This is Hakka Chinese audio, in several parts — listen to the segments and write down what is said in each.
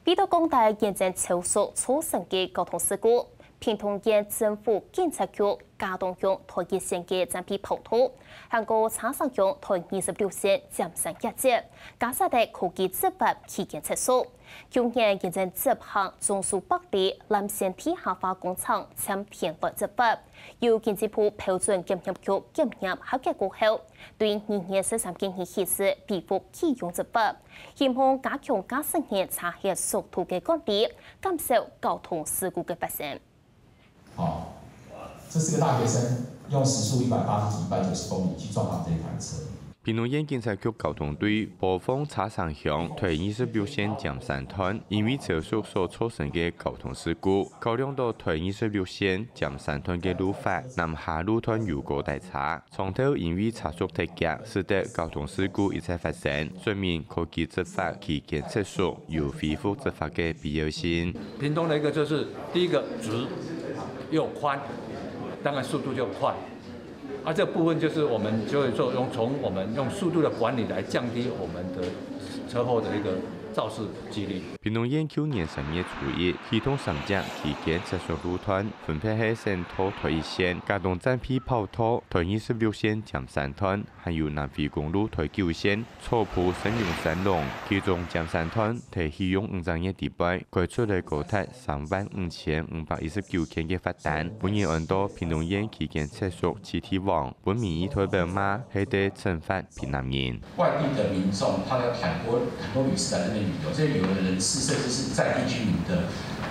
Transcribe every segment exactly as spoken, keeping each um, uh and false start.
為著降低延延超速造成个交通事故，屏東縣政府警察局佳冬鄉台一線个暫避跑道，還過車城鄉台二十六線尖山一節，加設个科技執法期間測速。舊年延延執行中蘇北里藍線地下化工程簽田來執法，由經濟部標準檢驗局檢驗合格過後，對二月十三日起實施微幅啟用執法。 希望加強駕駛人車歇速度个管理，減少交通事故个發生。好，這是個大學生用時速一百八十幾、一百九十公里去撞到這一台車。屏東縣警察局交通隊播放車城鄉台二十六線尖山段，因為超速所造成个交通事故，考量到台二十六線尖山段个路法，南下路段有過大車， 撞頭因為車速忒遽，使得交通事故一再發生，說明科技執法期間測速有恢復執法个必要性。屏東的一個就是第一個直又寬，當然速度就快。啊，這部分就是我們就會做用從我們用速度的管理來降低我們的車禍的一個肇事機率。屏東縣舊年三月初一啟動三隻期間測速路段，分別係省道台一線、佳冬暫避跑道、台二十六線尖山段， 還有南迴公路台九線、草埔聖榮山弄，其中尖山段在啟用五隻月底背，開出來高達三萬五千五百一十九件个罰單，分人安到屏東縣期間測速七天王，分民意代表罵係在懲罰屏南人。外地的民眾，他的很多很多旅次來這邊旅遊，這些旅遊的人次甚至是在地居民的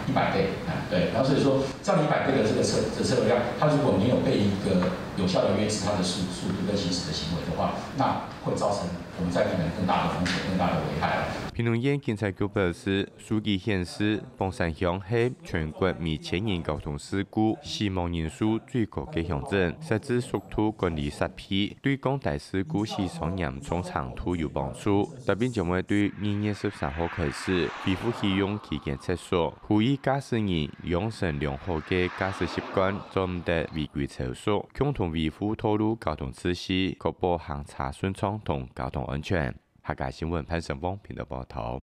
一百倍啊，對，然後所以說，照你一百倍的這個車的車流量，他如果沒有被一個有效的約制他的速速度跟行駛的行為的話，那會造成我們在地人更大的風險、更大的危害啊。屏東縣警察局表示，數據顯示，榜山鄉係全國每千人交通事故死亡人數最高个鄉鎮，設置速度管理設備，對降低事故死傷嚴重程度有幫助。特別將會對二月十三號開始恢復啟用期間測速，呼籲駕駛人養成良好个駕駛習慣，做毋得違規超速，共同維護道路交通秩序，確保行車順暢同交通安全。客家新聞潘成峰編導報導。